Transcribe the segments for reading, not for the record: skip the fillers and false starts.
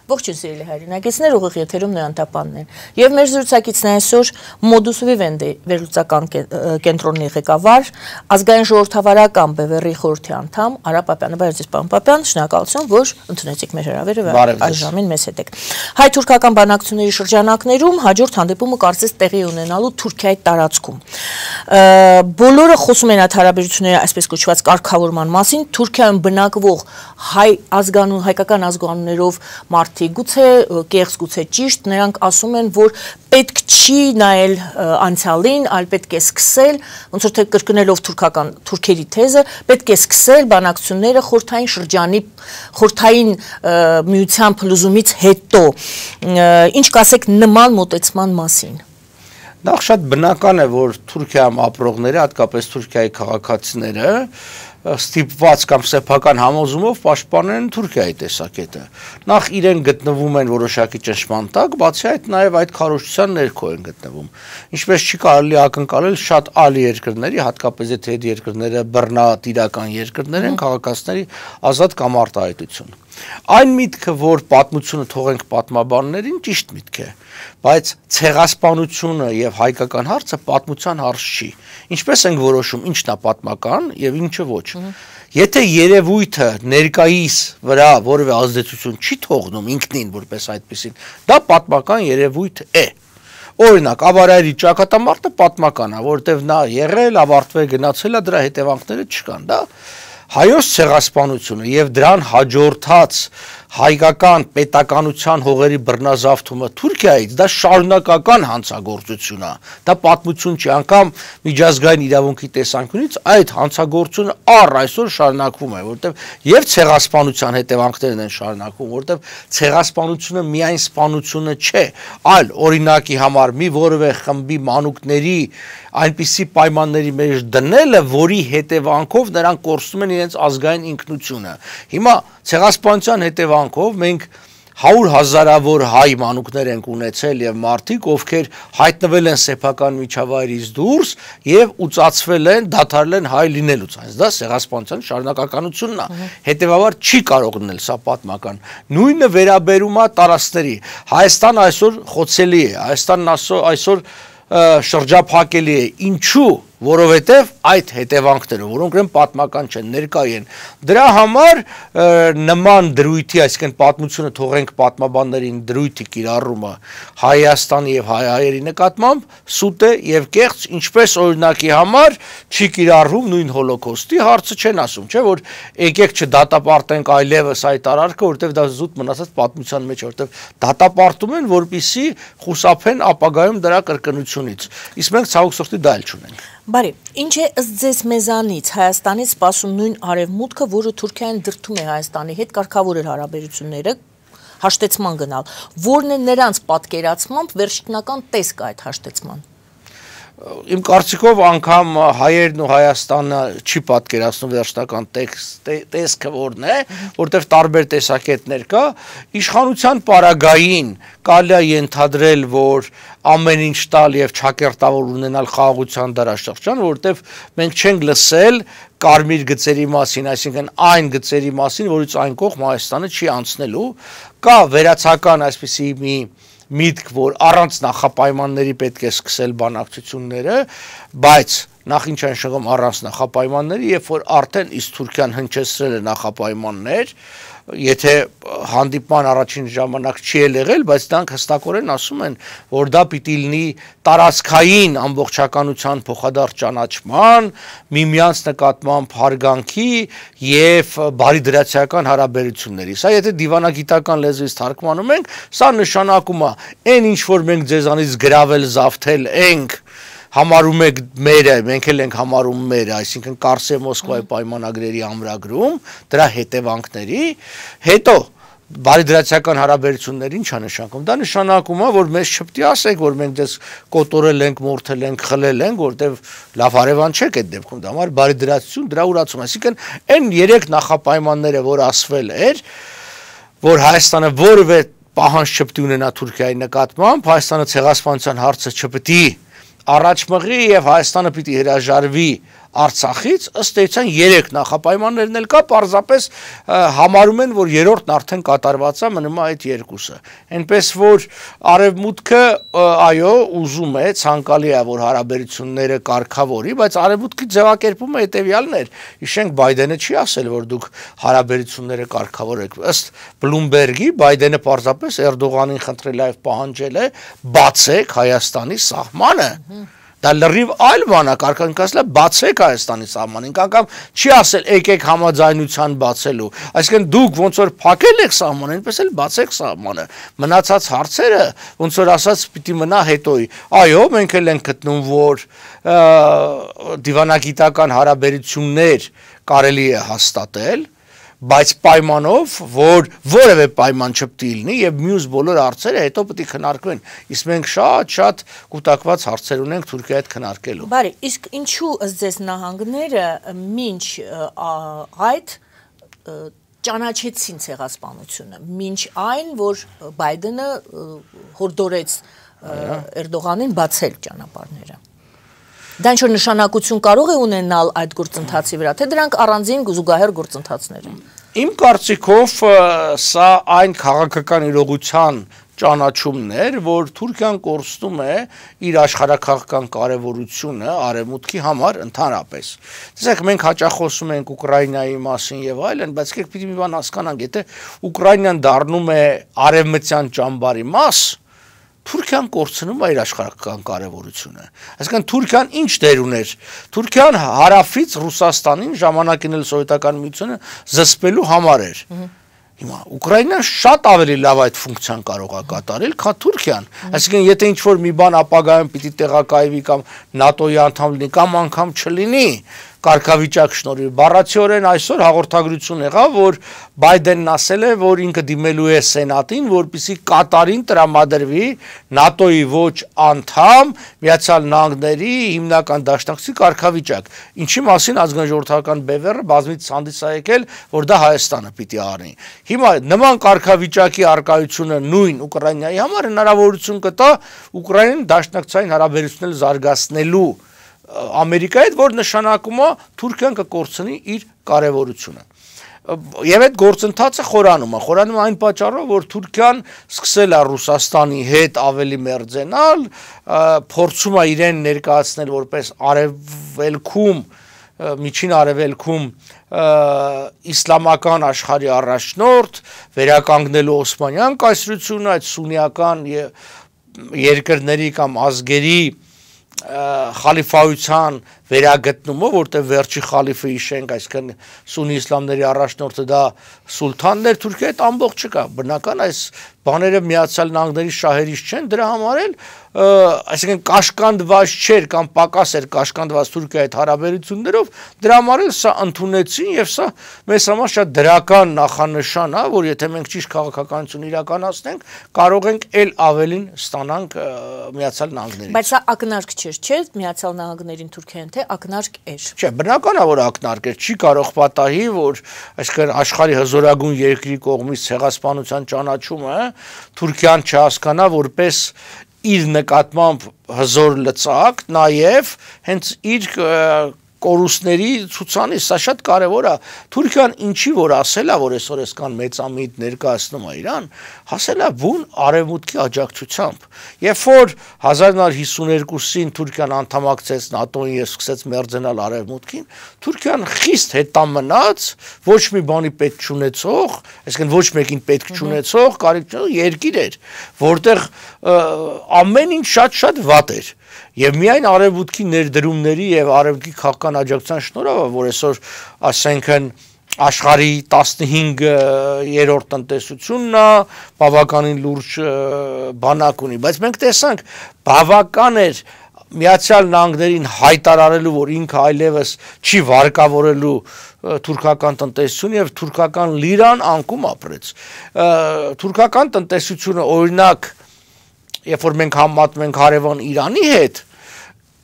Ողջույն սիրելի հայրենակիցներ, ուղիղ եթերում Նոյան Տապանն է։ Եվ մեր զրուցակիցն է այսօր Modus Vivendi վերլուծական կենտրոնի ղեկավար, ազգային ժողովրդավարական բևեռի խորհրդի անդամ Արա Պապյանը։ Բարև ձեզ, պարոն Պապյան, շնորհակալություն, որ ընդունեցիք մեր հրավերը եւ այս ժամին մեզ հետ եք։ Հայ-թուրքական բանակցությունների շրջանակներում հաջորդ հանդիպումը կարծես տեղի ունենալու Թուրքիայի տարածքում։ Բոլորը խոսում են այդ հարաբերությունների այսպես կոչված կարգավորման մասին, Թուրքիայում բնակվող հայկական ազգանուններով մարդիկ, գուցե կեղծ, գուցե ճիշտ, նրանք ասում են, որ պետք չի նայել անցյալին, այլ պետք է սկսել, ոնց որ թե կրկնելով թուրքերի թեզը, պետք է սկսել բանակցությունները խորհրդային շրջանի, խորհրդային միության փլուզումից հետո։ Ինչ կասեք նման մոտեցման մասին։ Նախ շատ բնական է, որ Թուրքիայում ապրողները, հատկապես Թուրքիայի քաղաքացիները ստիպված կամ սեփական համոզումով պաշտպանել են Թուրքիայի տեսակետը։ Նախ իրեն գտնվում են որոշակի ճնշման տակ, բացի այդ նաև այդ քարոզչության ներքո են գտնվում։ Ինչպես չի կարելի ակնկալել շատ այլ երկրների, հատկապես եթե այդ երկրները բռնատիրական երկրներ են, քաղաքացիների ազատ կամ արտահայտություն։ Այն միտքը, որ պատմությունը թողենք պատմաբաններին, ճիշտ միտք է, բայց ցեղասպանությունը եւ հայկական հարցը պատմության հարց չի։ Ինչպես ենք որոշում ինչն է պատմական եւ ինչը ոչ։ Եթե երևույթը ներկայիս վրա որևէ ազդեցություն չի թողնում ինքնին որպես այդպեսին, դա պատմական երևույթ է։ Օրինակ, Ավարայրի ճակատամարտը պատմական է, որտեղ նա եղել, ավարտվել, գնացել է, դրա հետևանքները չկան, դա հայոց ցեղասպանությունը եւ դրան հաջորդած հայկական պետականության հողերի բռնազավթումը Թուրքիայից, դա շարունակական հանցագործություն է, դա պատմություն չի, անգամ միջազգային իրավունքի տեսանկյունից այդ հանցագործությունը առ այսօր շարունակվում է, որտեղ եւ ցեղասպանության հետևանքներն են շարունակվում, որտեղ ցեղասպանությունը միայն սպանությունը չէ, այլ օրինակի համար մի որևէ խմբի մանուկների այնպիսի պայմանների մեջ դնելը, որի հետևանքով նրանք կորցնում են իրենց ազգային ինքնությունը։ Հիմա ցեղասպանության հետևանքով մենք 100,000-ավոր հայ մանուկներ ենք ունեցել եւ մարդիկ, ովքեր հայտնվել են սեփական միջավայրից դուրս եւ ուծացվել են, դադարել են հայ լինելուց։ Այս դա ցեղասպանության շարունակականությունն է։ Հետեւաբար չի կարող լինել սա պատմական։ Նույնը վերաբերում է տարածքների։ Հայաստանը այսօր խոցելի է, Հայաստանն այսօր շրջափակելի է, ինչու, որովհետև այդ հետևանքները, որոնք են պատմական չեն, ներկայ են, դրա համար նման դրույթի, այսինքն պատմությունը թողենք պատմաբաններին դրույթի կիրառումը Հայաստանի եւ հայերի նկատմամբ սուտ է եւ կեղծ, ինչպես օրինակի համար չի կիրառվում նույն հոլոկոստի հարցը չեն ասում, չէ՞ որ եկեք չդատապարտենք այլևս այդ արարքը, որովհետև դա զուտ մնացած պատմության մեջ, որովհետև դատապարտում են, որպեսզի խուսափեն ապագայում դրա կրկնությունից։ Իսկ մենք ցավոք սրտի դա էլ չունենք։ Բարի, ինչ է ըստ ձեզ մեզանից Հայաստանից սպասում նույն արևմուտքը, որը Թուրքիային դրդում է Հայաստանի հետ կարգավորել հարաբերությունները, հաշտեցման գնալ, որն է նրանց պատկերացմամբ վերջնական տեսքը այդ հաշտեցման։ Իմ կարծիքով անգամ հայերն ու Հայաստանը չի պատկերացնում վերջնական տեսքը որն է, որտեղ տարբեր տեսակետներ կա, իշխանության պարագային կարելի է ենթադրել, որ ամեն ինչ տալ եւ չակերտավոր ունենալ խաղաղության դարաշրջան, որտեղ մենք չենք լսել կարմիր գծերի մասին, այսինքն այն գծերի մասին, որից այն կողմ Հայաստանը չի անցնելու, կա վերացական այսպիսի մի միտք, որ առանց նախապայմանների պետք է սկսել բանակցությունները, բայց նախ ինչ են շղում առանց նախապայմանների, երբ որ արդեն իսկ Թուրքիան հնչեցրել է նախապայմաններ, եթե հանդիպման առաջին ժամանակ չի եղել, բայց դրանք հստակորեն ասում են, որ դա պիտի լինի տարածքային ամբողջականության փոխադարձ ճանաչման, միմյանց նկատմամբ հարգանքի եւ բարիդրացիական հարաբերությունների։ Սա եթե դիվանագիտական լեզվից թարգմանում ենք, սա նշանակում է այն ինչ որ մենք ձեզանից գրավել, զավթել ենք, համարում եք մերը, մենք էլ ենք համարում մերը, այսինքն Կարսե Մոսկվայի պայմանագրերի ամրագրում, դրա հետևանքների, հետո բարիդրացիական հարաբերություններ ինչ է նշանակում։ Դա նշանակում է, որ մեզ չպետք է ասեք, որ մենք դες կոտորել ենք, մորթել ենք, խլել ենք, որտեվ լավ հարևան չեք այդ դեպքում, դա համար բարիդրացիություն դրա ուրացում, այսինքն այն 3 նախապայմանները, որ ասվել էր, որ Հայաստանը որևէ պահանջ չպետք է ունենա Թուրքիայի նկատմամբ, Հայաստանը ցեղասպանության հարցը չպետք է առաջ մղի եւ Հայաստանը պիտի հրաժարվի Արցախից, ըստ էության 3 նախապայմաններն էլ կա, պարզապես համարում են, որ երրորդն արդեն կատարված է, մնում է այդ 2-ը։ Այնպես որ Արևմուտքը այո, ուզում է, ցանկալի է, որ հարաբերությունները կարգավորի, բայց Արևմուտքի ձևակերպումը հետևյալն էր։ Հիշենք, Բայդենը չի ասել, որ դուք հարաբերությունները կարգավորեք։ Ըստ Բլումբերգի Բայդենը պարզապես Էրդողանին խնդրել է, պահանջել է, բացեք Հայաստանի սահմանը։ Դա լրիվ այլ բան է, կարգանքացել է բացեք Հայաստանի սահմանին, անգամ չի ասել եկեք համաձայնության բացելու, այսինքն դուք ոնց որ փակել եք սահմանը, այնպես էլ բացեք սահմանը, մնացած հարցերը ոնց որ ասած պիտի մնա հետոյի, այո, մենք էլ ենք գտնում, որ դիվանագիտական հարաբերություններ կարելի է հաստատել, բայց պայմանով, որ որևէ պայման չպետք է լինի եւ մյուս բոլոր հարցերը հետո պետք է քննարկվեն։ Իսկ մենք շատ կուտակված հարցեր ունենք Թուրքիայի հետ քննարկելու։ Բարի, իսկ ինչու ըստ ձեզ նահանգները մինչ այդ ճանաչեցին ցեղասպանությունը, մինչ այն, որ Բայդենը հորդորեց Էրդողանին բացել ճանապարհները։ Դա ինչ-որ նշանակություն կարող է ունենալ այդ գործընթացի վրա, թե դրանք առանձին զուգահեռ գործընթացներ են։ Իմ կարծիքով սա այն քաղաքական իրողության ճանաչումն էր, որ Թուրքիան կորցնում է իր աշխարհակաղակական կարևորությունը Արևմուտքի համար ընդհանրապես։ Տեսեք, մենք հաճախ խոսում ենք Ուկրաինայի մասին եւ այլն, բայց եկեք պիտի մի բան հասկանանք, եթե Ուկրաինան դառնում է արևմտյան ճամբարի մաս, Թուրքիան կորցնում է իր աշխարհական կարևորությունը։ Այսինքն Թուրքիան ինչ դեր ուներ։ Թուրքիան հարավից Ռուսաստանին ժամանակին էլ սովետական միությունը զսպելու համար էր։ Հիմա Ուկրաինան շատ ավելի լավ այդ ֆունկցիան կարող է կատարել, քան Թուրքիան։ Այսինքն եթե ինչ-որ մի բան ապագայում պիտի տեղակայվի կամ ՆԱՏՕ-ի անդամ լինի կամ անգամ չլինի, կարգավիճակ շնորհիվ բառացիորեն այսօր հաղորդագրություն եղավ, որ Բայդենն ասել է, որ ինքը դիմելու է Սենատին, որպեսզի Կատարին տրամադրվի ՆԱՏՕ-ի ոչ անդամ Միացյալ Նահանգների հիմնական դաշնակցի կարգավիճակ։ Ինչի մասին ազգային ժողովրդական բևեռը բազմից հանդիս է եկել, որ դա Հայաստանը պիտի առնի։ Հիմա նման կարգավիճակի արկայությունը նույն Ուկրաինայի համար հնարավորություն կտա Ուկրաինան դաշնակցային հարաբերություններ զարգացնելու Ամերիկայի հետ, որ նշանակում է Թուրքիան կկորցնի իր կարևորությունը։ Եվ այդ գործընթացը խորանում է այն պատճառով, որ Թուրքիան սկսել է Ռուսաստանի հետ ավելի մերձենալ, փորձում է իրեն ներկայացնել որպես արևելքում, միջին արևելքում իսլամական աշխարհի առաջնորդ, վերականգնելու Օսմանյան կայսրությունը, այդ սուննիական երկրների կամ ազգերի խալիֆայության վերագտնումը, որտեղ վերջի խալիֆը հիշենք, այսինքն սուննի իսլամների առաջնորդը դա սուլթանն էր, Թուրքիայի հետ ամբողջ չկա։ Բնական այս բաները Միացյալ Նահանգների շահերից չեն, դրա համար էլ այսինքն կաշկանդված չէր կամ պակաս էր կաշկանդված Թուրքիայի հետ հարաբերություններով, դրա համար էլ սա ընդունեցին եւ սա մեզ համար շատ դրական նախանշան է, որ եթե մենք ճիշտ քաղաքականություն իրականացնենք, կարող ենք ել ավելին ստանանք Միացյալ Նահանգներից։ Բայց սա ակնարկ չէր, չէ՞, Միացյալ Նահանգներին Թուրքիային, թե ակնարկ էր։ Չէ, բնական է, որ ակնարկ էր, չի կարող պատահի, որ այսինքն աշխարհի հզորագույն երկրի կողմից ցեղասպանության ճանաչումը Թուրքիան չհասկանա որպես իր նկատմամբ հզոր լծակ, նաև հենց իր կորուստների ցուցանիշ, սա շատ կարևոր է։ Թուրքիան ինչի որ ասել է, որ այսօր այսքան մեծամիտ ներկայացնում է իրան, հասել է բուն արևմուտքի աջակցությամբ։ Երբ որ 1952-ին Թուրքիան անդամակցեց ՆԱՏՕ-ին եւ սկսեց մերձենալ արևմուտքին, Թուրքիան խիստ հետամնաց, ոչ մի բանի պետք չունեցող, այսինքն ոչ մեկին պետք չունեցող, կարիք չունեցող երկիր էր, որտեղ ամեն ինչ շատ վատ էր։ Եվ միայն արևմուտքի ներդրումների եւ արևմուտքի քաղաքական աջակցության շնորհիվ, որ այսօր ասենքն աշխարհի 15-րդ տնտեսությունն է, բավականին լուրջ բանակ ունի, բայց մենք տեսանք բավական էր Միացյալ Նահանգներին հայտարարելու, որ ինքը այլևս չի վարկավորելու թուրքական տնտեսություն եւ թուրքական լիրան անկում ապրեց։ Թուրքական տնտեսությունը օրինակ, երբ որ մենք համատում ենք հարևան Իրանի հետ,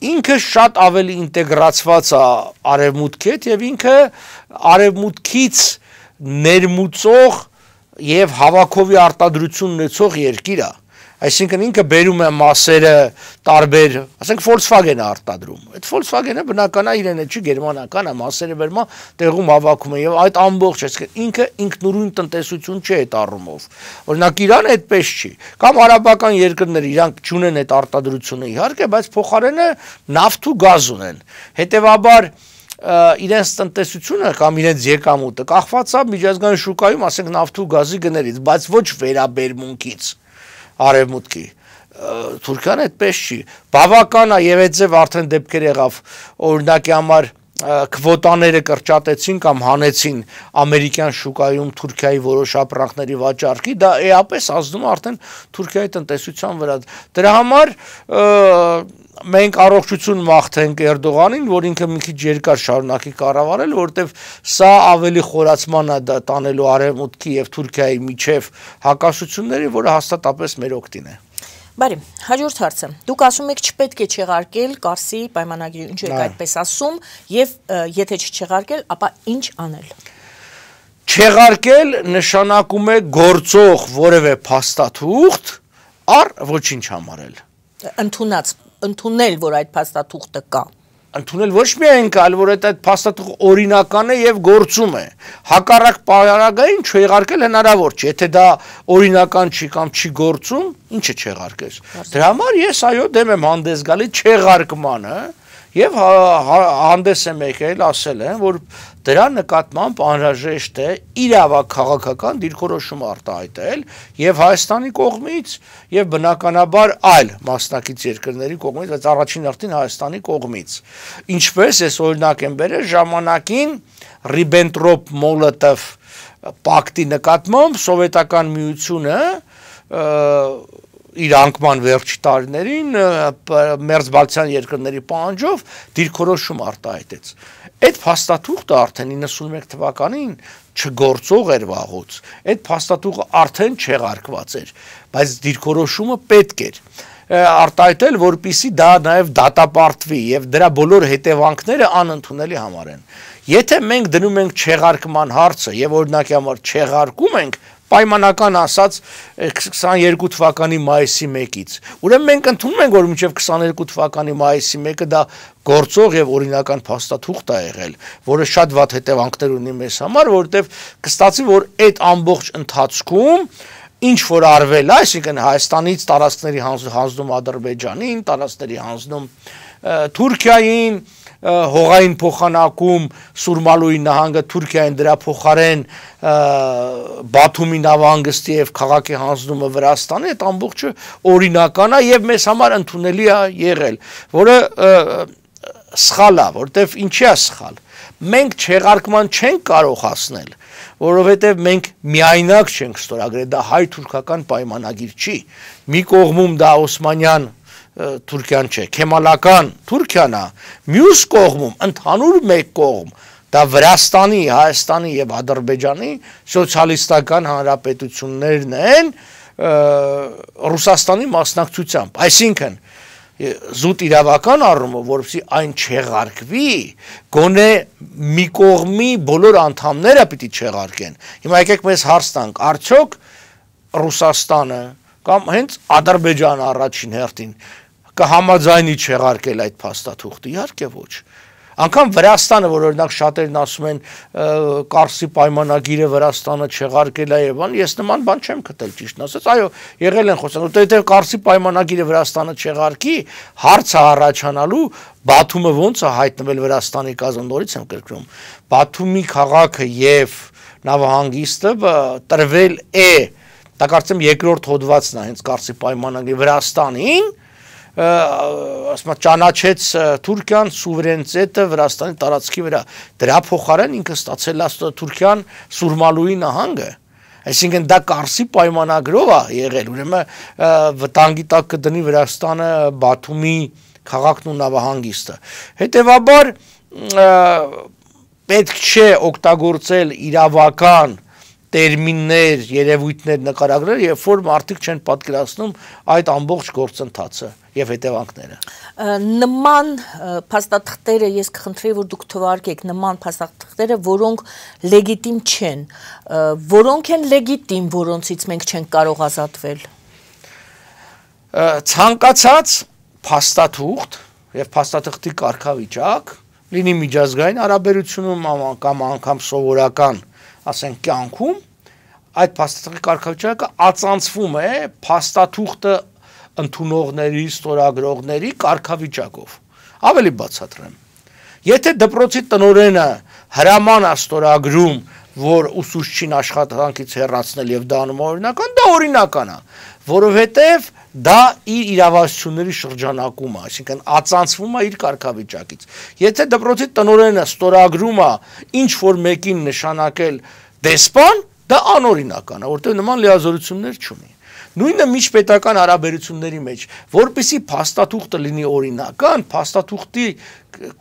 ինքը շատ ավելի ինտեգրացված է արևմուտքի հետ եւ ինքը արևմուտքից ներմուծող եւ հավաքովի արտադրություն ունեցող երկիր է։ Այսինքն ինքը բերում է մասերը տարբեր, ասենք Volkswagen-ը արտադրում։ Այդ Volkswagen-ը բնական է իրեն չի գերմանական է, մասերը բերում է, տեղում հավաքում է եւ այդ ամբողջ, այսինքն ինքը ինքնուրույն տնտեսություն չէ այդ առումով։ Օրինակ Իրանը այդպես չի։ Կամ արաբական երկրները իրանք չունեն այդ արտադրությունը իհարկե, բայց փոխարենը նավթ ու գազ ունեն։ Հետևաբար իրենց տնտեսությունը կամ իրենց եկամուտը կախված է միջազգային շուկայում, ասենք նավթ ու գազի գներից, բայց ոչ վերաբերմունքից արևմուտքի։ Թուրքիան այդպես չի։ Բավական է եւ այդ ձև արդեն դեպքեր եղավ, օրինակի համար քվոտաները կրճատեցին կամ հանեցին ամերիկյան շուկայում Թուրքիայի որոշ ապրանքների վաճառքի, դա էապես ազդում է արդեն Թուրքիայի տնտեսության վրա։ Դրա համար մենք առողջություն մաղթենք Էրդողանին, որ ինքը մի քիչ երկար շարունակի կառավարել, որովհետև սա ավելի խորացման է տանելու արևմուտքի եւ Թուրքիայի միջև հակասությունների, որը հաստատապես մեր օգտին է։ Բարի, հաջորդ հարցը։ Դուք ասում եք չպետք է չեղարկել Կարսի պայմանագրի, ինչու եք այդպես ասում, եւ եթե չեղարկել, ապա ինչ անել։ Չեղարկել նշանակում է գործող որևէ փաստաթուղթ առ ոչինչ համարել։ Ընդունել, որ այդ փաստաթուղթը կա։ Ընդունել ոչ միայն կա, այլ որ այդ փաստաթուղթը օրինական է եւ գործում է։ Հակառակ պարագային չեղարկել հնարավոր չէ, եթե դա օրինական չի կամ չի գործում, ինչը չեղարկես։ Դրա համար ես այո դեմ եմ հանդես գալի չեղարկմանը եւ հանդես եմ եկել ասել են, որ դրա նկատմամբ անհրաժեշտ է իրավաքաղաքական դիրքորոշում արտահայտել եւ Հայաստանի կողմից եւ բնականաբար այլ մասնակից երկրների կողմից, բայց առաջին հերթին Հայաստանի կողմից։ Ինչպես ես օրինակ եմ բերել ժամանակին Ռիբենտրոպ-Մոլոտով պակտի նկատմամբ Սովետական միությունը իր անկման վերջի տարիներին մերձբալթյան երկրների պահանջով դիրքորոշում արտահայտեց։ Այդ փաստաթուղթը արդեն 91 թվականին չգործող էր վաղուց։ Այդ փաստաթուղթը արդեն չեղարկված էր, բայց դիրքորոշումը պետք էր արտահայտել, որպեսզի դա նաև դատապարտվի եւ դրա բոլոր հետևանքները անընդունելի համարեն։ Եթե մենք դնում ենք չեղարկման հարցը եւ օրինակի համար չեղարկում ենք, պայմանական ասած 22 թվականի մայիսի 1-ից։ Ուրեմն մենք ընդունում ենք, որ մինչև 22 թվականի մայիսի 1-ը դա գործող եւ օրինական փաստաթուղթ է եղել, որը շատ վատ հետևանքներ ունի մեզ համար, որովհետեւ կստացի, որ այդ ամբողջ ընթացքում ինչ որ արվել է, այսինքն Հայաստանից տարածքների հանձնում Ադրբեջանին, տարածքների հանձնում Թուրքիային, հողային փոխանակում Սուրմալուի նահանգը Թուրքիային դրա փոխարեն Բաթումի նավահանգստի եւ քաղաքի հանձնումը Վրաստանի, այդ ամբողջը օրինական է եւ մեզ համար ընդունելի է եղել, որը սխալ է, որտեվ ինչի է սխալ։ Մենք չեղարկման չենք կարող հասնել, որովհետև մենք միայնակ չենք ստորագրել, դա հայ-թուրքական պայմանագիր չի։ Մի կողմում դա Օսմանյան Թուրքիան չէ, Քեմալական Թուրքիան է, մյուս կողմում ընդհանուր մեկ կողմ դա Վրաստանի, Հայաստանի եւ Ադրբեջանի սոցիալիստական հանրապետություններն են Ռուսաստանի մասնակցությամբ, այսինքն զուտ իրավական առումով, որպեսզի այն չեղարկվի, գոնե մի կողմի բոլոր անդամները պիտի չեղարկեն։ Հիմա եկեք մեզ հարց տանք, արդյոք Ռուսաստանը կամ հենց Ադրբեջանը առաջին հերթին կհամաձայնի չեղարկել այդ փաստաթուղթը, իհարկե ոչ։ Անկամ Վրաստանը, որ օրինակ շատերն ասում են Կարսի պայմանագիրը Վրաստանը չեղարկել է եւ բան, ես նման բան չեմ գտել ճիշտն ասած, այո, եղել են խոսանք, որտեղ Կարսի պայմանագիրը Վրաստանը չեղարկի, հարցը առաջանալու Բաթումը ոնց է հայտնվել Վրաստանի կազմում, նորից եմ կրկնում, Բաթումի քաղաքը եւ նավահանգիստը տրվել է, դա կարծեմ երկրորդ հոդվածն է հենց Կարսի պայմանագրի Վրաստանին, ասма ճանաչեց Թուրքիան սուվերենիտետը Վրաստանի տարածքի վրա, դրա փոխարեն ինքը ստացել է Թուրքիան Սուրմալուի նահանգը, այսինքն դա Կարսի պայմանագրով է եղել, ուրեմն վտանգի տակ կդնի Վրաստանը Բաթումի քաղաքն ու նավահանգիստը, հետևաբար պետք չէ օգտագործել իրավական տերմիններ, երևույթներ նկարագրել, երբ որ մարդիկ չեն պատկերացնում այդ ամբողջ գործընթացը եւ հետևանքները։ Նման փաստաթղթերը ես կխնդրեի, որ դուք թվարկեք նման փաստաթղթերը, որոնք լեգիտիմ չեն, որոնք են լեգիտիմ, որոնցից մենք չենք կարող ազատվել։ ցանկացած փաստաթուղթ եւ փաստաթղթի կարգավիճակ լինի միջազգային հարաբերությունում կամ անգամ սովորական, ասենք, կյանքում, այդ փաստաթղթի կարգավիճակը ածանցվում է փաստաթուղթը ընդունողների, ստորագրողների կարգավիճակով։ Ավելի բացատրեմ։ Եթե դպրոցի տնօրենը հրաման է ստորագրում, որ ուսուցչին աշխատանքից հեռացնել եւ դա անում օրինական, դա օրինական է, որովհետեւ դա իր իրավասությունների շրջանակում է, այսինքն ածանցվում է իր կարգավիճակից։ Եթե դպրոցի տնօրենը ստորագրում է ինչ որ մեկին նշանակել դեսպան, դա անօրինական է, որտեղ նման լիազորություններ չունի։ Նույնը միջպետական հարաբերությունների մեջ, որպեսզի փաստաթուղթը լինի օրինական, փաստաթուղթի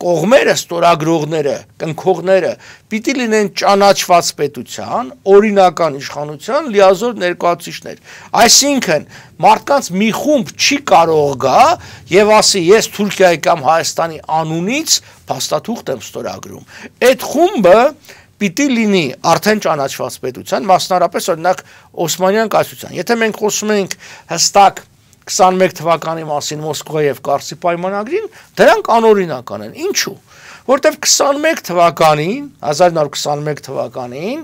կողմերը, ստորագրողները, կնքողները պիտի լինեն ճանաչված պետության, օրինական իշխանության լիազոր ներկայացուցիչներ։ Այսինքն, մարդկանց մի խումբ չի կարող գա եւ ասի, ես Թուրքիայի կամ Հայաստանի անունից փաստաթուղթ եմ ստորագրում։ Այդ խումբը պիտի լինի արդեն ճանաչված պետության, մասնարապես օրինակ Օսմանյան կայսրության։ Եթե մենք խոսում ենք հստակ 21 թվականի մասին Մոսկվայի եւ Կարսի պայմանագրին, դրանք անօրինական են։ Ինչու՞։ Որտեւ 21 թվականին, 1921 թվականին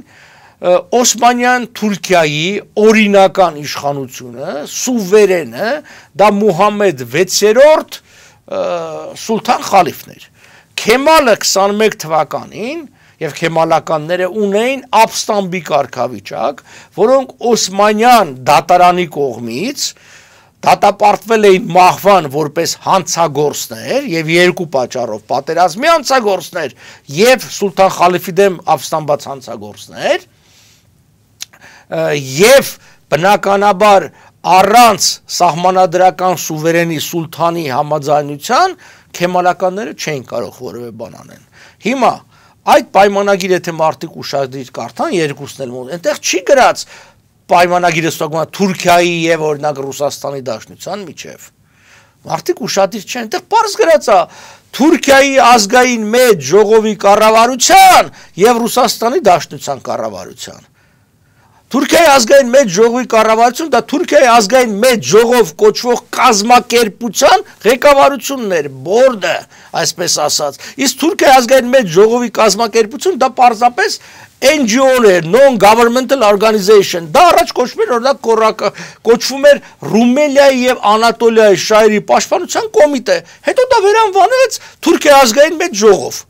Օսմանյան Թուրքիայի օրինական իշխանությունը, սուվերենը, դա Մուհամեդ 6-րդ սուլթան խալիֆն էր։ Քեմալը 21 թվականին եւ քեմալականները ունեին ապստամբի կարգավիճակ, որոնք Օսմանյան դատարանի կողմից դատապարտվել էին մահվան որպես հանցագործներ եւ երկու պատճառով պատերազմի հանցագործներ եւ սուլթան խալիֆի դեմ ապստամբած հանցագործներ եւ բնականաբար առանց սահմանադրական սուվերենի սուլթանի համաձայնության քեմալականները չէին կարող որևէ բան անեն։ Հիմա այդ պայմանագիրը եթե մարդիկ ուշադիր կարդան, երկուսն էլ այնտեղ չի գրած պայմանագիրը ստորագրվում է Թուրքիայի եւ օրինակ Ռուսաստանի Դաշնության միջև։ Մարդիկ ուշադիր չեն, այնտեղ պարզ գրած է Թուրքիայի ազգային մեծ ժողովի կառավարության եւ Ռուսաստանի Դաշնության կառավարության։ Թուրքիայի ազգային մեծ ժողովի կառավարություն դա Թուրքիայի ազգային մեծ ժողով կոչվող կազմակերպության ղեկավարությունն էր, բորդը, այսպես ասած։ Իսկ Թուրքիայի ազգային մեծ ժողովի կազմակերպություն դա պարզապես NGO-ներ, non-governmental organization, դա առաջ կոչվում էր օրինակ կոչվում էր Ռումելիայի եւ Անատոլիայի շահերի պաշտպանության կոմիտե, հետո դա վերանվանվեց Թուրքիայի ազգային մեծ ժողով։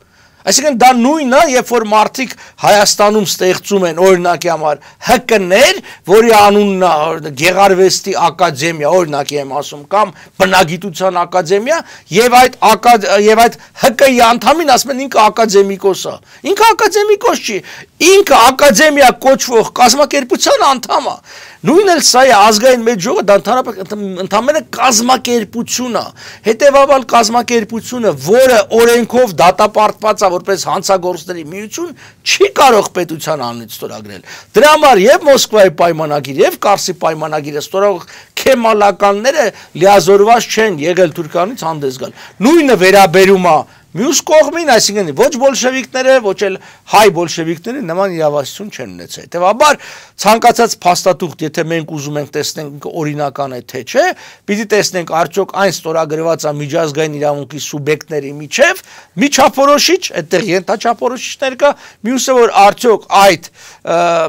Այսինքն դա նույնն է, երբ որ մարդիկ Հայաստանում ստեղծում են օրինակի համար ՀԿ-ներ, որի անունն է Գեղարվեստի ակադեմիա, օրինակի եմ ասում, կամ բնագիտության ակադեմիա, եւ այդ ՀԿ-ի անդամին ասում են ինքը ակադեմիկոս է։ Ինքը ակադեմիկոս չի, ինքը ակադեմիա կոչվող կազմակերպության անդամ է։ Նույնն էլ սա է ազգային մեծ ժողովը, դա ընդհանրապես կազմակերպություն է։ Հետևաբար կազմակերպությունը, որը օրենքով դատապարտված է որպես հանցագործների միություն, չի կարող պետության անունից ստորագրել։ Դրա համար եւ Մոսկվայի պայմանագիր եւ Կարսի պայմանագիրը ստորագրող քեմալականները լիազորված չեն եղել Թուրքիայից հանդես գալ։ Նույնը վերաբերում է մյուս կողմին, այսինքն ոչ բոլշևիկները, ոչ էլ հայ բոլշևիկները նման իրավասություն չեն ունեցել։ Հետևաբար ցանկացած փաստաթուղթ, եթե մենք ուզում ենք տեսնենք օրինական է թե չէ, պիտի տեսնենք արդյոք այն ստորագրված է միջազգային իրավունքի սուբյեկտների միջև, միջափորոշիչ, այդտեղ ենթաչափորոշիչներ կա, մյուսը որ արդյոք այդ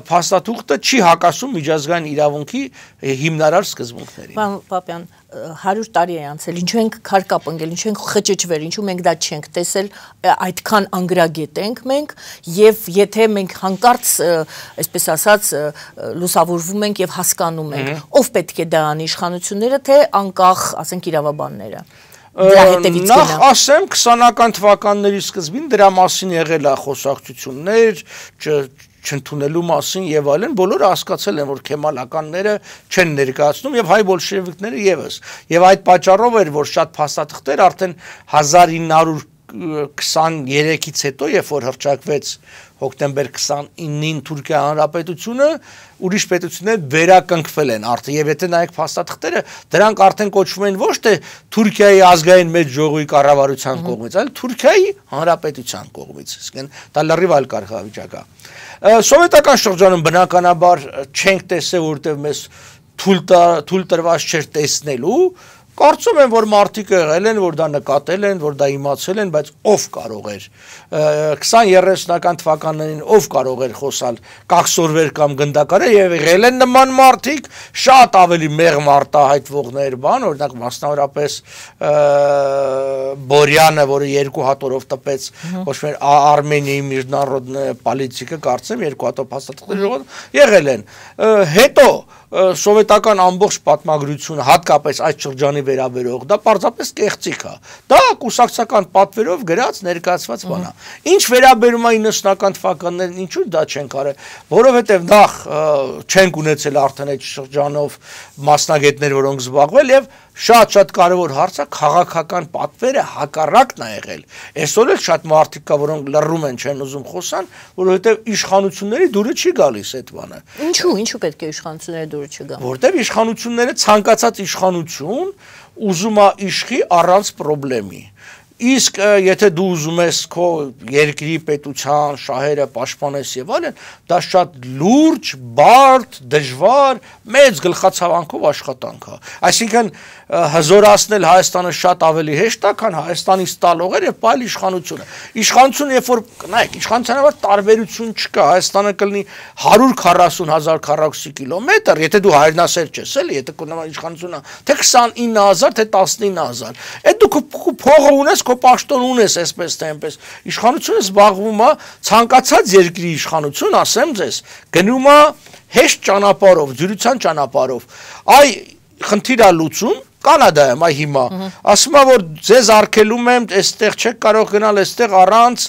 փաստաթուղթը չի հակասում միջազգային իրավունքի հիմնարար սկզբունքներին։ Պարոն Պապյան, 100 տարի է անցել, ինչու ենք քարկապ ընկել, ինչու ենք խճճվել, ինչու մենք դա չենք տեսել, այդքան անգրագետ ենք մենք, եւ եթե մենք հանկարծ, այսպես ասած, լուսավորվում ենք եւ հասկանում ենք, ով պետք է դա անի, իշխանությունները, թե անկախ, ասենք, իրավաբանները։ Նախ ասեմ 20-ական թվականների սկզբին դրա մասին եղել է խոսակցություններ, չընդունելու մասին եւ այլն, բոլորը հասկացել են, որ քեմալականները չեն ներկայացնում եւ հայ բոլշևիկները եւս։ Եվ այդ պատճառով էր, որ շատ փաստաթղթեր արդեն 1923-ից հետո, երբ որ հռչակվեց հոկտեմբեր 29-ին Թուրքիա հանրապետությունը, ուրիշ պետություններ վերականգնվել են արդեն եւ եթե նայեք փաստաթղթերը, դրանք արդեն կոչվում են ոչ թե Թուրքիայի ազգային մեծ ժողովի կառավարության կողմից, այլ Թուրքիայի հանրապետության կողմից։ Իսկեն դա լրիվ այլ կարգավիճակ է։ Սովետական շրջանում բնականաբար չենք տեսել, որտեղ մեզ թույլ տրված չէր տեսնելու, կարծում եմ, որ մարդիկ եղել են, որ դա նկատել են, որ դա իմացել են, բայց ով կարող էր 20-30-ական թվականներին ով կարող էր խոսալ կաքսորվեր կամ գնդակարեր եւ եղել են նման մարդիկ, շատ ավելի մեղմ արտահայտվողներ բան, օրինակ մասնավորապես Բորյանը, որը 2 հատորով տպեց ոչ միայն Արմենիայի միջնարодная պոլիտիկա, կարծեմ 2 հատով փաստաթղթեր եղել են, հետո սովետական ամբողջ պատմագրությունը, հատկապես այդ շրջանի վերաբերող, դա պարզապես կեղծիք է։ Դա կուսակցական պատվերով գրած ներկայացված բան է։ Ինչ վերաբերում է 90-ական թվականներին, ինչու դա չենք արել, որովհետև նախ չենք ունեցել արդեն այդ շրջանով մասնագետներ, որոնք զբաղվել եւ շատ կարևոր հարց է քաղաքական պատվերը հակառակն է եղել։ Այսօր էլ շատ մարդիկ կա, որոնք լռում են, չեն ուզում խոսան, որովհետև իշխանությունների դուրը չի գալիս այդ բանը։ Ինչու պետք է իշխանությունների դուրը չգա։ Որտեվ իշխանությունները ցանկացած իշխանություն ուզում է իշխի առանց խնդրի։ Իսկ եթե դու ուզում ես քո երկրի պետության շահերը պաշտպանես եւ այլն, դա շատ լուրջ, բարդ, դժվար, մեծ գլխացավանքով աշխատանք է։ Այսինքն հզորացնել Հայաստանը շատ ավելի հեշտ է, քան Հայաստանից տալողեր եւ այլ իշխանությունը։ Իշխանությունը երբ որ նայեք, իշխանության տարբերություն չկա, Հայաստանը կլինի 140,000 քառակուսի կիլոմետր, եթե դու հայրենասեր ես, էլի, եթե կունենա իշխանությունը, թե 29,000, թե 19,000։ Այդ դու փողը ունես, քո պաշտոն ունես, այսպես թե այնպես։ Իշխանությունը զբաղվում է ցանկացած երկրի իշխանություն, ասեմ ձեզ, գնում է հեշտ ճանապարհով, ջրության ճանապարհով։ Այ խնդիրը լուծում Կանադայում այ հիմա ասում է որ ձեզ արգելում եմ այստեղ չեք կարող գնալ այստեղ առանց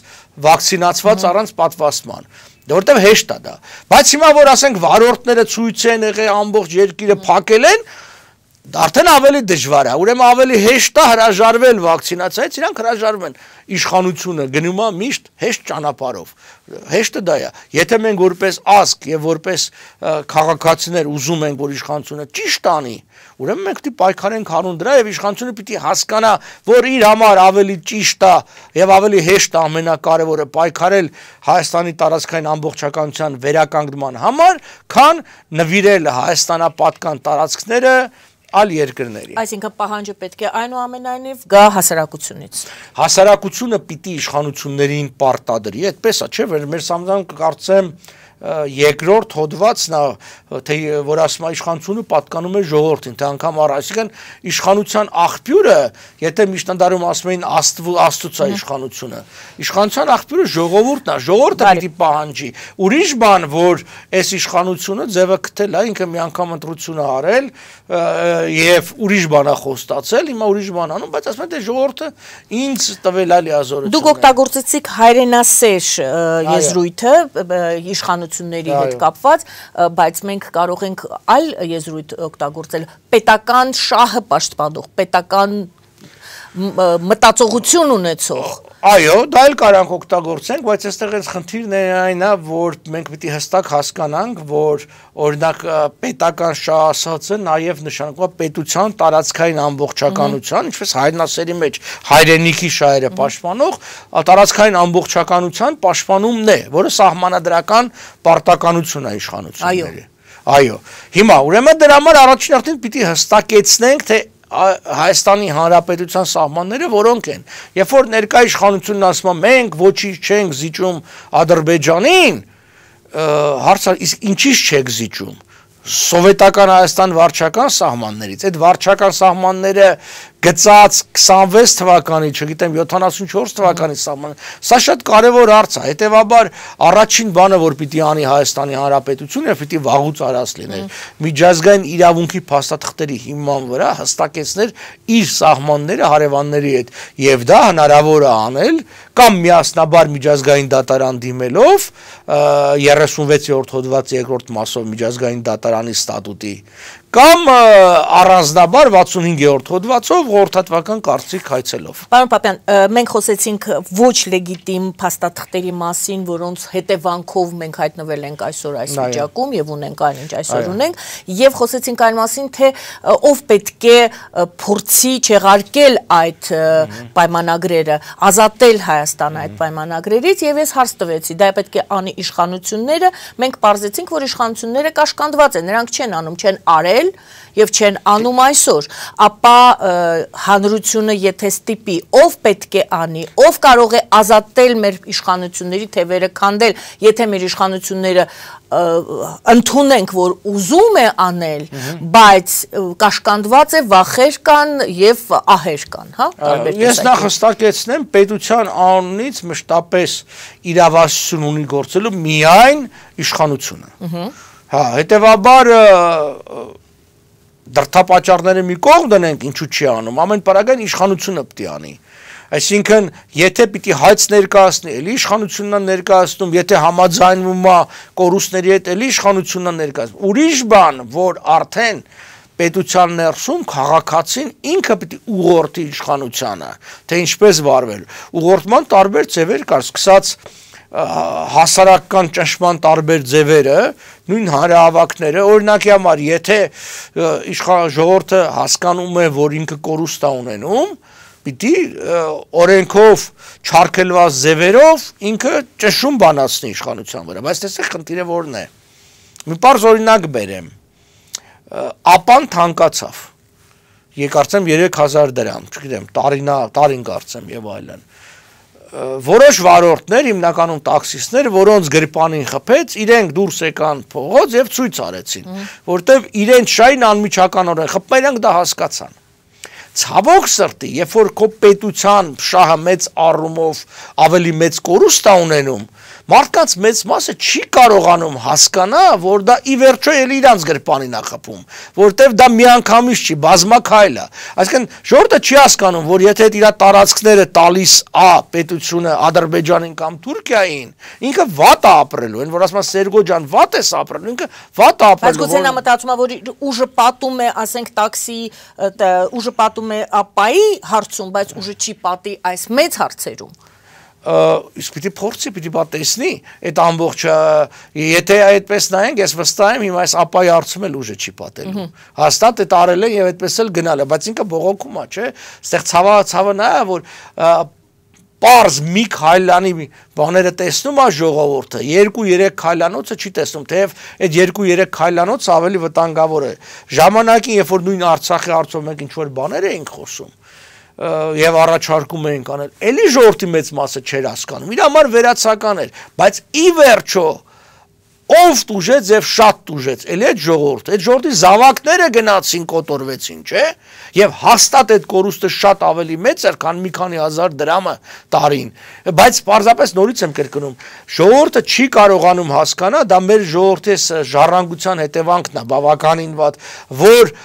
վակցինացված առանց պատվաստման որտեղ հեշտ է դա բայց հիմա որ ասենք վարորդները ցույց են եղել ամբողջ երկիրը փակել են արդեն ավելի դժվար է ուրեմն ավելի հեշտ է հրաժարվել վակցինացիայից իրանք հրաժարվում են իշխանությունը գնում է միշտ հեշտ ճանապարհով հեշտը դա է եթե մենք որպես ազգ եւ որպես քաղաքացիներ ուզում ենք որ իշխանությունը ճիշտ անի ուրեմն մենք պիտի պայքարենք հանուն դրա եւ իշխանությունը պիտի հասկանա որ իր համար ավելի ճիշտ է եւ ավելի հեշտ է ամենակարևորը պայքարել Հայաստանի տարածքային ամբողջականության վերականգնման համար քան նվիրել Հայաստանապատկան տարածքները այլ երկրների Այսինքն պահանջը պետք է այնուամենայնիվ գա հասարակությունից Հասարակությունը պիտի իշխանություններին պարտադրի այդպես է չէ մեր սամզան կարծեմ երկրորդ հոդվածն է թե որ ասում է իշխանությունը պատկանում է ժողովրդին թե անգամ այսինքն իշխանության աղբյուրը եթե միջնադարում ասում էին աստծո իշխանությունը իշխանության աղբյուրը ժողովուրդն է ժողովուրդը պիտի պահանջի ուրիշ բան որ այս իշխանությունը ձևը գտել է ինքը մի անգամ ընտրություն արել եւ ուրիշ բան է խոստացել հիմա ուրիշ բան անում բայց ասում են թե ժողովուրդը ինձ տվել է լիազորություն Դուք օգտագործեցիք հայրենասեր եզրույթը իշխանությունների հետ կապված, բայց մենք կարող ենք այլ եզրույթ օգտագործել պետական շահը պաշտպանող, պետական մտածողություն ունեցող Այո, դա էլ կարանք օգտագործենք, բայց այստեղ այս խնդիրն է այն է, որ մենք պիտի հստակ հասկանանք, որ օրինակ պետական շահ ասածը նաև նշանակում է պետության տարածքային ամբողջականության, ինչպես հայրենասերի մեջ հայրենիքի շահերը պաշտպանող, տարածքային ամբողջականության պաշտպանումն է, որը սահմանադրական պարտականություն է իշխանությունների։ Այո։ Հիմա ուրեմն դրա համար առաջին արդեն պիտի հստակեցնենք, թե Հայաստանի Հանրապետության սահմանները որոնք են երբ որ ներկայ իշխանությունն ասում է մենք ոչինչ չենք զիջում Ադրբեջանին հարցը իսկ ինչի՞ց չեք զիջում Սովետական Հայաստան վարչական սահմաններից այդ վարչական սահմանները գծած 26 թվականի, չգիտեմ 74 թվականի սահման։ Սա շատ կարևոր հարց է, հետեւաբար առաջին բանը, որ պիտի անի Հայաստանի Հանրապետությունը, պիտի վաղուց արած լիներ։ Միջազգային իրավունքի փաստաթղթերի հիման վրա հստակեցներ իր սահմանները հարևանների հետ, եւ դա հնարավոր է անել կամ միասնաբար միջազգային դատարան դիմելով 36-րդ հոդված 2-րդ մասով միջազգային դատարանի ստատուտի կամ առանձնաբար 65-րդ հոդվածով խորհրդատվական կարծիք հայցելով։ Պարոն Պապյան, մենք խոսեցինք ոչ լեգիտիմ փաստաթղթերի մասին, որոնց հետևանքով մենք հայտնվել ենք այսօր այս վիճակում եւ ունենք այն ինչ այսօր ունենք, եւ խոսեցինք այն մասին, թե ով պետք է փորձի չեղարկել այդ պայմանագրերը, ազատել Հայաստանը այդ պայմանագրերից եւ ես հարց տվեցի, դա պետք է անի իշխանությունները, մենք պարզեցինք, որ իշխանությունները կաշկանդված են, նրանք չեն անում, չեն արել եւ չեն անում այսօր, ապա հանրությունը եթե ստիպի, ով պետք է անի, ով կարող է ազատել մեր իշխանությունների թևերը քանդել, եթե մեր իշխանությունները ընդունենք, որ ուզում է անել, բայց կաշկանդված է, վախեր կան եւ ահեր կան, հա? Ես նախ հստակեցնեմ, պետության անունից մշտապես իրավասություն ունի գործելու միայն իշխանությունը։ Հա, հետեւաբար դրդապատճառները մի կողմ դնենք, ինչու չի անում, ամեն պարագան իշխանությունը պետք է անի։ Այսինքն, եթե պիտի հայց ներկայացնի, էլի իշխանությունն է ներկայացնում, եթե համաձայնվում է կորուստների հետ, էլի իշխանությունն է ներկայացնում։ Ուրիշ բան, որ արդեն պետության ներսում քաղաքացին ինքը պիտի ուղղորդի իշխանությանը, թե ինչպես վարվել։ Ուղղորդման տարբեր ձևեր կար, սկսած հասարակական ճնշման տարբեր ձևերը, նույն հանրահավաքները, օրինակի համար, եթե ժողովուրդը հասկանում է, որ ինքը կորուստ է ունենում, պիտի օրենքով չարգելված ձևերով ինքը ճնշում բանացնի իշխանության վրա, բայց տեսեք խնդիրը որն է։ Մի պարզ օրինակ բերեմ։ Ապան թանկացավ։ Կարծեմ 3000 դրամ, չգիտեմ, տարին կարծեմ եւ այլն։ Որոշ վարորդներ, հիմնականում տաքսիստներ, որոնց գրպանին խփեց, իրենք դուրս եկան փողոց եւ ցույց արեցին, որտեւ իրենց շային անմիջականորեն խփում, իրենք դա հասկացան։ Ցավոք սրտի, երբ որ քո պետության շահը մեծ առումով ավելի մեծ կորուստ է ունենում, մարդկանց մեծ մասը չի կարողանում հասկանա, որ դա ի վերջո էլի իրանց գրպանին է խփում, որտեվ դա միանգամից չի, բազմաքայլ է։ Այսինքն ժողովուրդը չի հասկանում, որ եթե իր տարածքները տալիս է պետությունը Ադրբեջանին կամ Թուրքիային, ինքը վատ է ապրելու, այն որ ասում են Սերգո ջան, վատ ես ապրելու, ինքը վատ է ապրելու։ Բայց գուցե նա մտածում է, որ ուժը պատում է, ասենք տաքսի, ուժը պատում է ապայի հարցում, բայց ուժը չի պատի այս մեծ հարցերում։ Իսկ պիտի փորձի, պիտի պատեսնի այդ ամբողջը, եթե այդպես նայենք, ես վստահ եմ հիմա այս ապայի հարցում էլ ուժը չի պատելու։ Հաստատ այդ արել է եւ այդպես էլ գնալ է, բայց ինքը բողոքում է, չէ՞։ Այստեղ ցավը նա է, որ պարզ մի քայլանի բաները տեսնում է ժողովուրդը, 2-3 քայլանոցը չի տեսնում, թեև այդ 2-3 քայլանոցը ավելի վտանգավոր է։ Ժամանակին, երբ որ նույն Արցախի հարցով մենք ինչ որ բաներ էինք խոսում, եւ առաջարկում էինք անել, էլի ժողովրդի մեծ մասը չէր հասկանում, իր համար վերացական էր, բայց ի վերջո ով տուժեց եւ շատ տուժեց, էլի այդ ժողովրդի զավակները գնացին, կոտորվեցին, չէ՞, եւ հաստատ այդ կորուստը շատ ավելի մեծ էր, քան մի քանի հազար դրամը տարին, բայց պարզապես նորից եմ կրկնում, ժողովուրդը չի կարողանում հասկանա, դա մեր ժողովրդի ժառանգության հետևանքն է, բավականին վատ, որ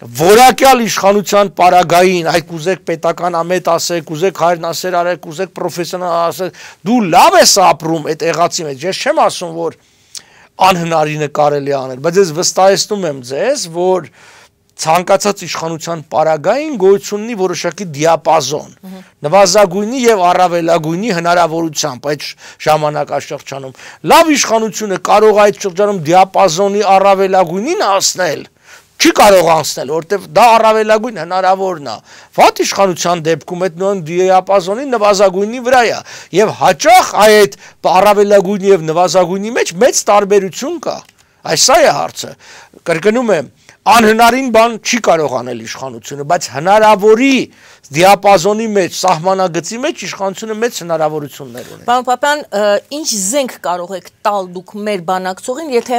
որակյալ իշխանության պարագային, այ կուզեք պետական ամետ ասեք, կուզեք հայրենասեր արեք, կուզեք պրոֆեսիոնալ ասեք, դու լավ ես ապրում այդ եղածի մեջ, ես չեմ ասում, որ անհնարինը կարելի անել, բայց ես վստահեցնում եմ ձեզ, որ ցանկացած իշխանության պարագային գոյություն ունի որոշակի դիապազոն, նվազագույնի եւ առավելագույնի հնարավորությամբ այդ ժամանակաշրջանում։ Լավ իշխանությունը կարող է այդ շրջանում դիապազոնի առավելագույնին հասնել, չի կարող անցնել, որտեվ դա առավելագույն հնարավորն է։ Վատ իշխանության դեպքում այդ նույն դիապազոնի նվազագույնի վրա է, եւ հաճախ այդ առավելագույնի եւ նվազագույնի մեջ մեծ տարբերություն կա։ Այս սա է հարցը։ Կրկնում եմ, անհնարին բան չի կարող անել իշխանությունը, բայց հնարավորի դիապազոնի մեջ, սահմանագծի մեջ իշխանությունը մեծ հնարավորություններ ունի։ Պարոն Պապյան, ինչ զենք կարող եք տալ դուք մեր բանակցողին, եթե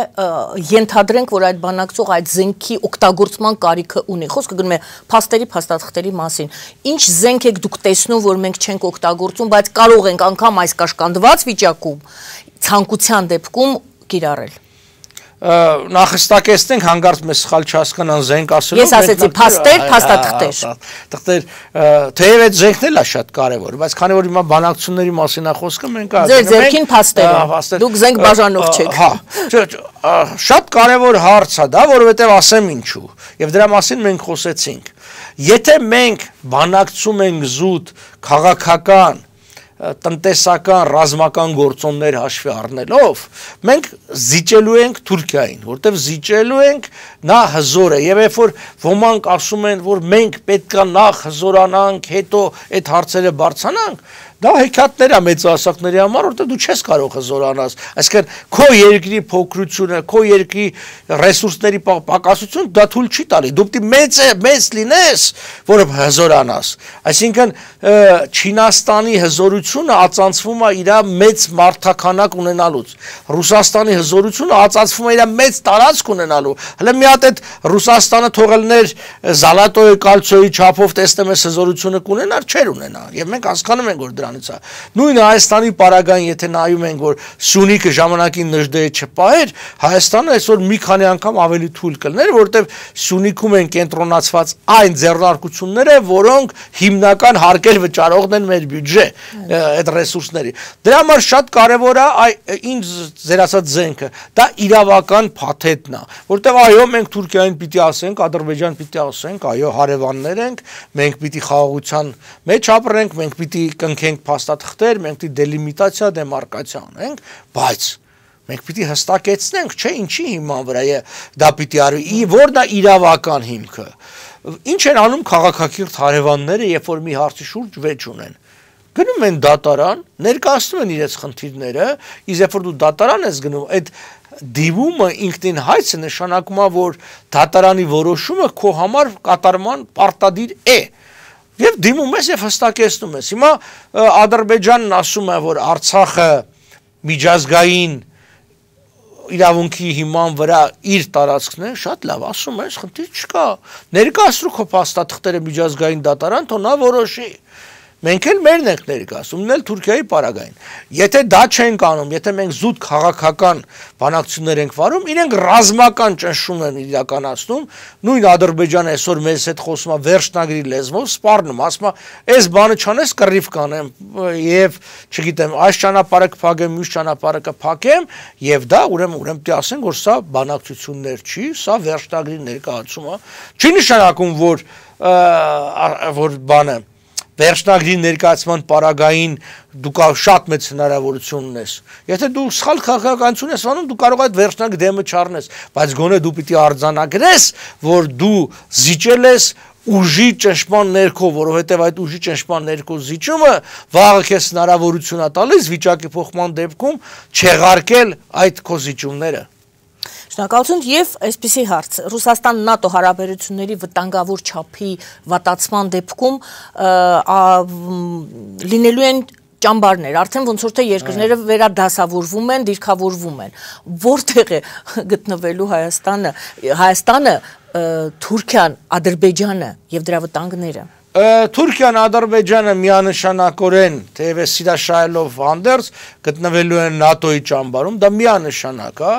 ենթադրենք, որ այդ բանակցողը այդ զենքի օգտագործման կարիքը ունի։ Խոսքը գնում է փաստերի, փաստաթղթերի մասին։ Ինչ զենք եք դուք տեսնում, որ մենք չենք օգտագործում, բայց կարող ենք անգամ այս կաշկանդված վիճակում ցանկության դեպքում կիրառել։ Նախստակեցնենք հանգարց մեզ սխալ չհասկանան զենք ասելով։ Ես ասեցի փաստեր, փաստաթղթեր։ Թղթեր, թեև այդ զենքն էլ է շատ կարևոր, բայց քանի որ հիմա բանակցությունների մասին է խոսքը, մենք Ձեր ձերքին փաստեր։ Դուք զենք բաժանող չեք։ Հա, շատ կարևոր հարց է դա, որովհետև ասեմ ինչու։ Եվ դրա մասին մենք խոսեցինք։ Եթե մենք բանակցում ենք զուտ քաղաքական տնտեսական ռազմական գործոններ հաշվի առնելով մենք զիջելու ենք Թուրքիային, որտեղ զիջելու ենք նա հզոր է եւ երբ որ ոմանք ասում են, որ մենք պետքա նախ հզորանանք, հետո այդ հարցերը բարձրանանք, դա հեքիաթներ է մեծահասակների համար, որտեղ դու չես կարող հզորանալ, այսինքն քո երկրի փոքրությունը, քո երկրի ռեսուրսների պակասությունը դա թույլ չի տալի, դու պետք է մեծ լինես, որ հզորանաս, այսինքն Չինաստանի հզորությունը ածանցվում է իր մեծ մարդաքանակ ունենալուց, Ռուսաստանի հզորությունը ածանցվում է իր մեծ տարածք ունենալու, հələ մի հատ այդ Ռուսաստանը թողելներ Զալատոյի կալցիոյի չափով տեսնեմ այս հզորությունը կունենար, չէր ունենա, եւ մենք հասկանում ենք, որ դրանից է, նույն Հայաստանի պարագային, եթե նայում ենք, որ Սյունիքը ժամանակին նժդեը չպահեր, Հայաստանը այսօր մի քանի անգամ ավելի թույլ կլներ, որտեղ Սյունիքում են կենտրոնացված այն ձեռնարկությունները, որոնք հիմնական հարկեր վճարողն են մեր բյուջե, այդ ռեսուրսների։ Դրա համար շատ կարևոր է ինձ ձեր ասած զենքը, դա իրավական փաթեթն է, որտեղ այո, մենք Թուրքիային պիտի ասենք, Ադրբեջան պիտի ասենք, այո, հարևաններ ենք, մենք պիտի խաղաղության մեջ ապրենք, մենք պիտի կնքենք փաստաթղթեր, մենք պիտի դելիմիտացիա, դեմարկացիա անենք, բայց մենք պիտի հստակեցնենք, չէ, ինչի հիման վրա է դա պիտի արվի, որն է իրավական հիմքը։ Ինչ են անում քաղաքակիրթ հարևանները, երբ որ մի հարցի շուրջ վեճ ունեն։ Գնում են դատարան, ներկայացնում են իրենց խնդիրները, իսկ երբ որ դու դատարան ես գնում, այդ դիմումը ինքնին հայցը նշանակում է, որ դատարանի որոշումը քո համար կատարման պարտադիր է։ Եվ դիմում ես եւ հստակեցնում ես։ Հիմա Ադրբեջանն ասում է, որ Արցախը միջազգային իրավունքի հիման վրա իր տարածքն է, շատ լավ, ասում ես, խնդիր չկա։ Ներկայացրու քո փաստաթղթերը միջազգային դատարան, թող նա որոշի։ Մենք էլ մերն ենք ներկայացում, էլ Թուրքիայի պարագային։ Եթե դա չենք անում, եթե մենք զուտ քաղաքական բանակցություններ ենք վարում, իրենք ռազմական ճնշում են իրականացնում, նույն Ադրբեջանը այսօր մեզ հետ խոսում է վերջնագրի լեզվով, սպառնում, ասում է, այս բանը չանես կռիվ կանեմ եւ, չգիտեմ, այս ճանապարհը կփակեմ, մյուս ճանապարհը կփակեմ, եւ դա ուրեմն պիտի ասենք, որ սա բանակցություններ չի, սա վերջնագրի ներկայացում է։ Չի նշանակում, որ բանը վերջնագրի ներկայացման պարագային դու շատ մեծ հնարավորություն ունես։ Եթե դու սխալ քաղաքականություն ես անում, դու կարող ես այդ վերջնագրի դեմը չառնես, բայց գոնե դու պիտի արձանագրես, որ դու զիջել ես ուժի ճնշման ներքո, որովհետև այդ ուժի ճնշման ներքո զիջումը վաղը քեզ հնարավորություն է տալիս վիճակի փոխման դեպքում չեղարկել այդ քո զիջումները։ Շնորհակալություն եւ այսպիսի հարց Ռուսաստան-ՆԱՏՕ հարաբերությունների վտանգավոր չափի վատացման դեպքում լինելու են ճամբարներ, արդեն ոնց որ թե երկրները վերադասավորվում են, դիրքավորվում են։ Որտեղ է գտնվելու Հայաստանը, Թուրքիան, Ադրբեջանը եւ դրա վտանգները։ Թուրքիան, Ադրբեջանը միանշանակորեն, թեևս սիրաշահելով հանդերձ, գտնվելու են ՆԱՏՕ-ի ճամբարում, դա միանշանակ է,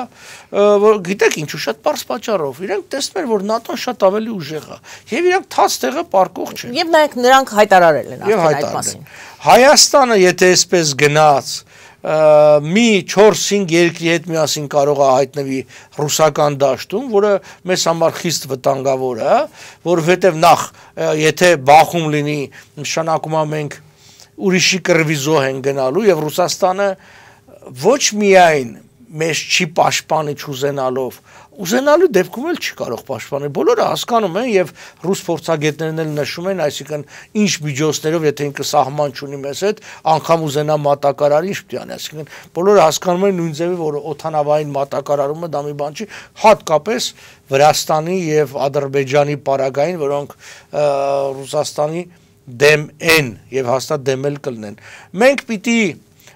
որ գիտեք ինչու շատ պարզ պատճառով, իրենք տեսնում են, որ ՆԱՏՕ-ն շատ ավելի ուժեղ է, եւ իրենք թաց տեղը պարկող չեն։ Եվ նրանք հայտարարել են այդ մասին։ Հայաստանը, եթե այսպես գնաց, մի 4-5 երկրի հետ միասին կարող է հայտնվի ռուսական դաշտում, որը մեզ համար խիստ վտանգավոր է, որովհետև նախ, եթե բախում լինի, նշանակում է մենք ուրիշի կռվի զոհ են գնալու եւ Ռուսաստանը ոչ միայն մեզ չի պաշտպանի ուզենալու դեպքում էլ չի կարող պաշտպանել։ Բոլորը հասկանում են եւ ռուս փորձագետներն էլ նշում են, այսինքն ինչ միջոցներով, եթե ինքը սահման չունի մեզ հետ, անգամ ուզենա մատակարար ինչ պիտի անի, այսինքն բոլորը հասկանում են նույն ձևի, որ օթանավային մատակարարումը դա մի բան չի, հատկապես Վրաստանի եւ Ադրբեջանի պարագային, որոնք Ռուսաստանի դեմ են եւ հաստատ դեմ էլ կլինեն։ Մենք պիտի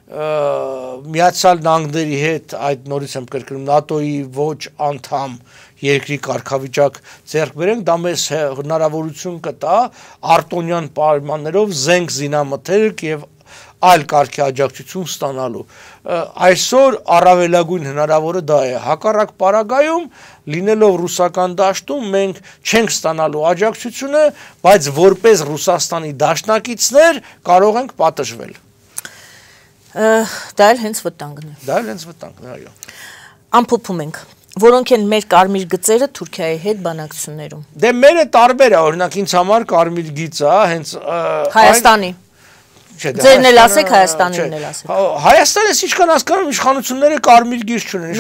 Միացյալ Նահանգների հետ այդ նորից եմ կրկնում ՆԱՏՕ-ի ոչ անդամ երկրի կարգավիճակ ձեռք բերենք, դա մեզ հնարավորություն կտա արտոնյան պայմաններով զենք զինամթերք եւ այլ կարգի աջակցություն ստանալու։ Այսօր առավելագույն հնարավորը դա է։ Հակառակ պարագայում լինելով ռուսական դաշտում մենք չենք ստանալու աջակցությունը, բայց որպես Ռուսաստանի դաշնակիցներ կարող ենք պատժվել։ Դա էլ հենց վտանգն է։ Այո։ Ամփոփում ենք։ Որոնք են մեր կարմիր գծերը Թուրքիայի հետ բանակցություններում։ Դե մերը տարբեր է, օրինակ ինձ համար կարմիր գիծը, հենց Հայաստանի։ Ձերն էլ ասեք, Հայաստանին էլ ասեք։ Հայաստանը ինչքան հասկանում իշխանությունները կարմիր գիծ չունեն,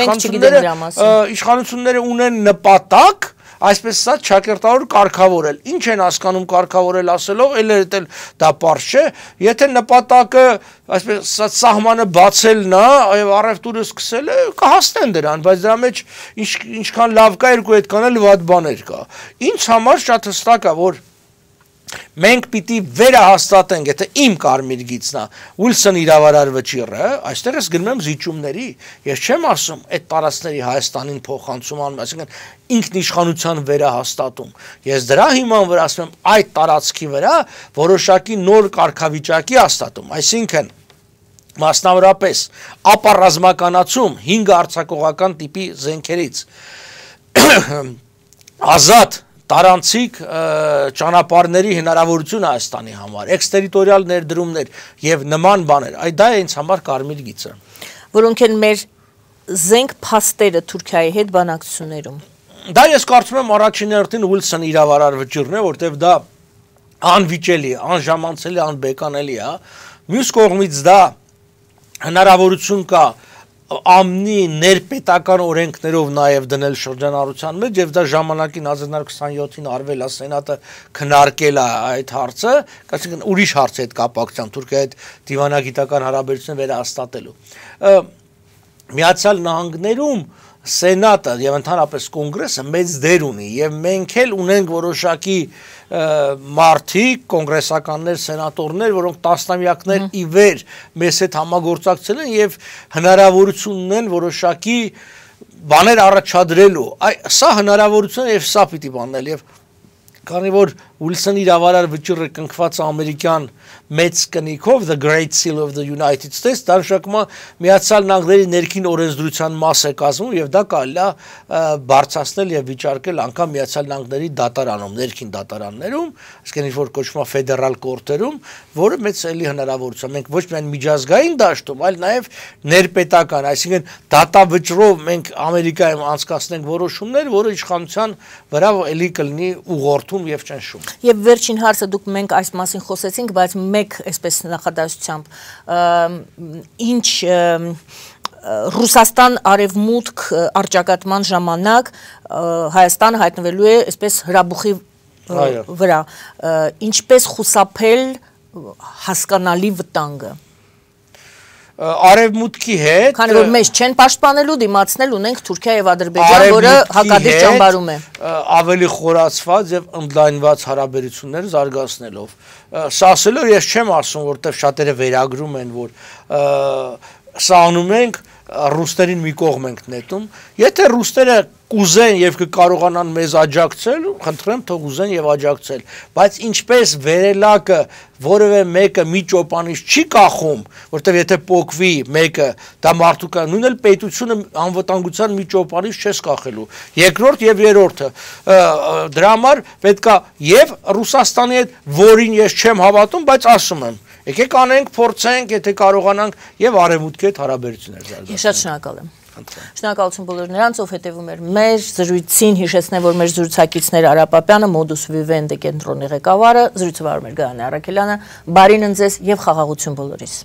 իշխանությունները ունեն նպատակ այսպես ասած ճակերտավոր կարգավորել։ Ինչ են հասկանում կարգավորել ասելով, էլ դա պարզ չէ, եթե նպատակը այսպես ասած սահմանը բացելն է եւ առևտուրը սկսելը, կհասնեն դրան, բայց դրա մեջ ինչքան լավ կա, երկու այդքան էլ վատ բաներ կա։ Ինձ համար շատ հստակ է, որ մենք պիտի վերահաստատենք, եթե իմ կարմիր գիծն է, Ուիլսոն իրավարար վճիռը, այստեղ ես գնում եմ զիջումների, ես չեմ ասում այդ տարածքների Հայաստանին փոխանցում անում, այսինքն ինքնիշխանության վերահաստատում։ Ես դրա հիման վրա ասում եմ այդ տարածքի վրա որոշակի նոր կարգավիճակի հաստատում, այսինքն մասնավորապես ապառազմականացում 5 արձակողական տիպի զենքերից ազատ տարանցիկ ճանապարհների հնարավորություն Հայաստանի համար, էքստերիտորիալ ներդրումներ եւ նման բաներ, դա է ինձ համար կարմիր գիծը, որոնք են մեր զենք փաստերը Թուրքիայի հետ բանակցություններում։ Դա ես կարծում եմ առաջին հերթին Ուիլսոն իրավարար վճիռն է, որտեվ դա անվիճելի, անժամանցելի, անբեկանելի է։ Մյուս կողմից դա հնարավորություն կա ամնի ներպետական օրենքներով նաև դնել շրջանառության մեջ եւ դա ժամանակին 1927-ին արվել է սենատը քննարկել է այդ հարցը, այսինքն ուրիշ հարց է այդ կապակցությամբ Թուրքիայի հետ դիվանագիտական հարաբերությունները վերահաստատելու։ Միացյալ Նահանգներում սենատը եւ ընդհանրապես կոնգրեսը մեծ դեր ունի եւ մենք էլ ունենք որոշակի մարդիկ, կոնգրեսականներ, սենատորներ, որոնք տասնամյակներ ի վեր մեզ հետ համագործակցել են եւ հնարավորություն ունեն որոշակի բաներ առաջադրելու։ Սա հնարավորություն է եւ սա պիտի բանել եւ քանի որ Ուիլսոն իրավարար վճիռը կնքված ամերիկյան մեծ կնիքով the Great Seal of the United States դա նշանակում է Միացյալ Նահանգների ներքին օրենսդրության մաս է կազմում եւ դա կարելի է բարձրացնել եւ վիճարկել անգամ Միացյալ Նահանգների դատարանում, ներքին դատարաններում, այսինքն ինչ որ կոչվում է ֆեդերալ կորտերում, որը մեծ էլի հնարավորություն է։ Մենք ոչ միայն միջազգային դաշտում, այլ նաեւ ներպետական, այսինքն դատավճռով մենք Ամերիկայում անցկացնենք որոշումներ, որը իշխանության վրա էլի կլինի ուղղորդում եւ ճնշում։ Եվ վերջին հարցը դուք մենք այս մասին խոսեցինք, բայց մեկ այսպես նախադասությամբ ինչ Ռուսաստան արևմուտք արճակատման ժամանակ Հայաստանը հայտնվելու է այսպես հրաբուխի վրա, ինչպես խուսափել հասկանալի վտանգը։ Արևմուտքի հետ քանի որ մեզ չեն պաշտպանելու դիմացնել ունենք Թուրքիա եւ Ադրբեջան, որը հակադիր ճամբարում է ավելի խորացված եւ ընդլայնված հարաբերություններ զարգացնելով։ Սա ասելով ես չեմ ասում, որտեղ շատերը վերագրում են, որ սա անում ենք ռուսներին մի կողմ ենք նետում, եթե ռուսները կուզեն եւ կկարողանան մեզ աջակցել, խնդրեմ թող ուզեն եւ աջակցել, բայց ինչպես վերելակը որևէ մեկը մի ճոպանից չի կախում, որտեւ եթե փոկվի մեկը, դա մարդու կա, նույն էլ պետությունը անվտանգության մի ճոպանից չես կախելու։ Երկրորդ եւ երրորդը դրա համար պետքա եւ Ռուսաստանի հետ, որին ես չեմ հավատում, բայց ասում եմ եկեք անենք, փորձենք, եթե կարողանանք եւ արևմուտքի հետ հարաբերություններ զարգացնել։ Ես շատ շնորհակալ եմ։ Շնորհակալություն բոլոր նրանց, ով հետևում էր մեր զրույցին, հիշեցնեմ, որ մեր զրուցակիցներ Արա Պապյանը, Modus Vivendi կենտրոնի ղեկավարը, զրույցը վարում էր Գայանե Առաքելյանը, բարին ընձեզ եւ խաղաղություն բոլորիս։